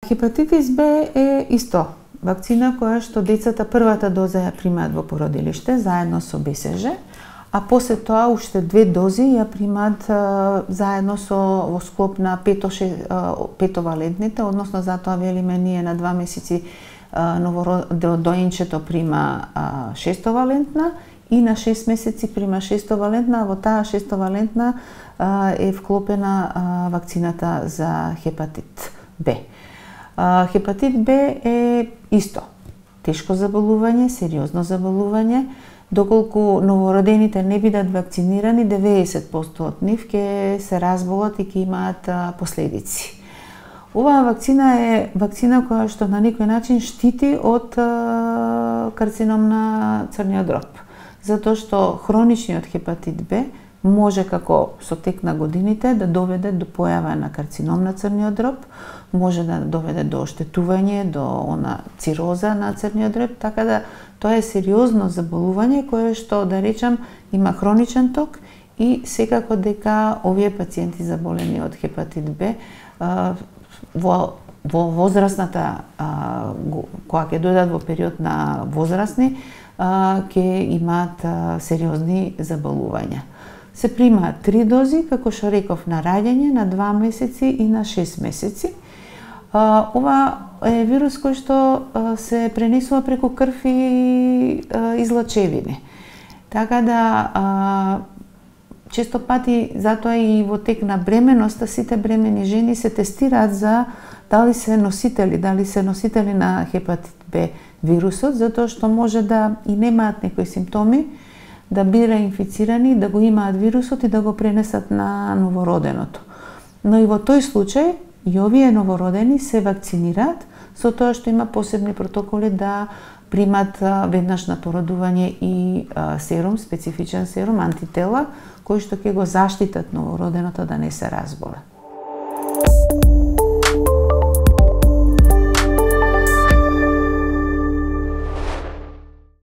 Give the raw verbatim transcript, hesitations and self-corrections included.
Хепатитис Б е исто вакцина која што децата првата доза ја примаат во породилиште заедно со Б С Ж, а после тоа уште две дози ја примаат заедно со во склоп на пето, петовалентните, односно затоа велиме ние на два месеци доинчето прима шестовалентна и на шест месеци прима шестовалентна, а во таа шестовалентна е вклопена вакцината за хепатит Б. Хепатит Б е исто тешко заболување, сериозно заболување. Доколку новородените не бидат вакцинирани, деветдесет проценти од нив ќе се разболат и ќе имаат последици. Оваа вакцина е вакцина која што на некој начин штити од карцином на црниот дроб, затоа што хроничниот хепатит Б може како со тек на годините да доведе до појава на карцином на црниот дроб, може да доведе до оштетување, до она цироза на црниот дроб, така да тоа е сериозно заболување кое што, да речам, има хроничен ток и секако дека овие пациенти заболени од хепатит Б во во возрастната кога ќе дојдат во период на возрастни ќе имаат сериозни заболувања. Се примаат три дози, како што реков, на раѓање, на два месеци и на шест месеци. Ова е вирус кој што се пренесува преку крв и излачевини. Така да често пати, затоа и во тек на бременоста, сите бремени жени се тестираат за дали се носители, дали се носители на хепатит Б вирусот, затоа што може да и немаат некои симптоми, да бира инфицирани, да го имаат вирусот и да го пренесат на новороденото. Но и во тој случај, и овие новородени се вакцинираат, со тоа што има посебни протоколи да примат веднаш на породување и серум, специфичен серум, антитела, кои што ќе го заштитат новороденото да не се разболе.